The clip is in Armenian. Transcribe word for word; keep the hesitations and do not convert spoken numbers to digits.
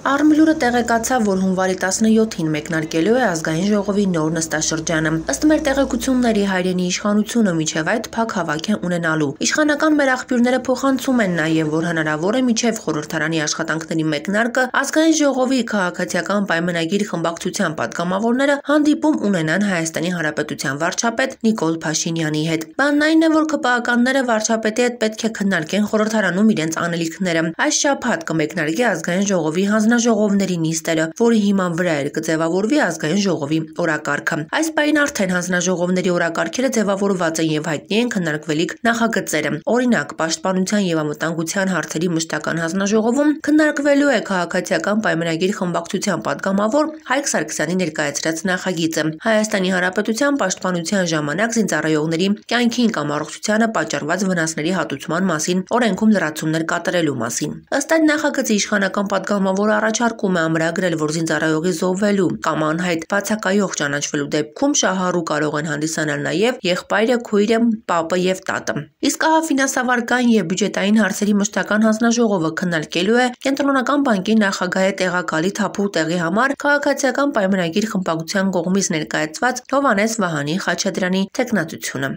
Արմլուրը տեղեկացավ, որ հունվարի տասնյոթին մեկնարկելու է ազգային ժողովի նոր նստաշրջանը։ Ըստ մեր տեղեկությունների, հայրենի իշխանությունը մինչև այդ փակ հավաք է ունենալու։ Իշխանական մեր աղբյուրները փոխանցում են նաև, որ հնարավոր է մինչև խորհրդարանի աշխատանքների մեկնարկը ազգային ժողովի քաղաքացիական պայմանագիր խմբակցության պատգամավորները հանդիպում ունենան Հայաստանի Հանրապետության վարչապետ Նիկոլ Փաշինյանի հետ։ Բանն այն է, որ ՔՊԱ-ականները վարչապետի հետ պետք է քննարկեն խորհրդարանում իրենց անելիքները։ Այս շաբաթ կմեկնարկի ազգային ժողովի հանձնաժողովների նիստերը, որի հիման վրա էր կձևավորվի ազգային ժողովի օրակարգը։ Այս պահին արդեն հանձնաժողովների օրակարգերը ձևավորված են եւ հայտնի են քննարկվելիք նախագծերը։ Օրինակ, պաշտպանության եւ անվտանգության հարցերի մշտական հանձնաժողովում քննարկվելու է քաղաքացիական պայմանագիր խմբակցության պատգամավոր Հայկ Սարգսյանի ներկայացրած նախագիծը։ Հայաստանի Հանրապետության պաշտպանության ժամանակ զինծառայողների կյանքին կամ առողջությանը պատճառված վնասների հատուցման մասին օրենքում լրացումներ կատարելու մասին։ Ըստ այդ նախագծի իշխանական պատգամավորը առաջարկում է ամրագրել, որ զինծառայողի զոհվելու կամ անհայտ բացակայող ճանաչվելու դեպքում շահառու կարող են հանդիսանալ նաև եղբայրը, քույրը, պապը եւ տատը։ Իսկ ահա ֆինանսավարկային եւ բյուջետային հարցերի մշտական հանձնաժողովը քննարկելու է Կենտրոնական բանկի նախագահի տեղակալի թափու տեղի համար քաղաքացիական պայմանագիր խմբակցության կողմից ներկայացված Հովհաննես Վահանի Խաչատրյանի թեկնածությունը։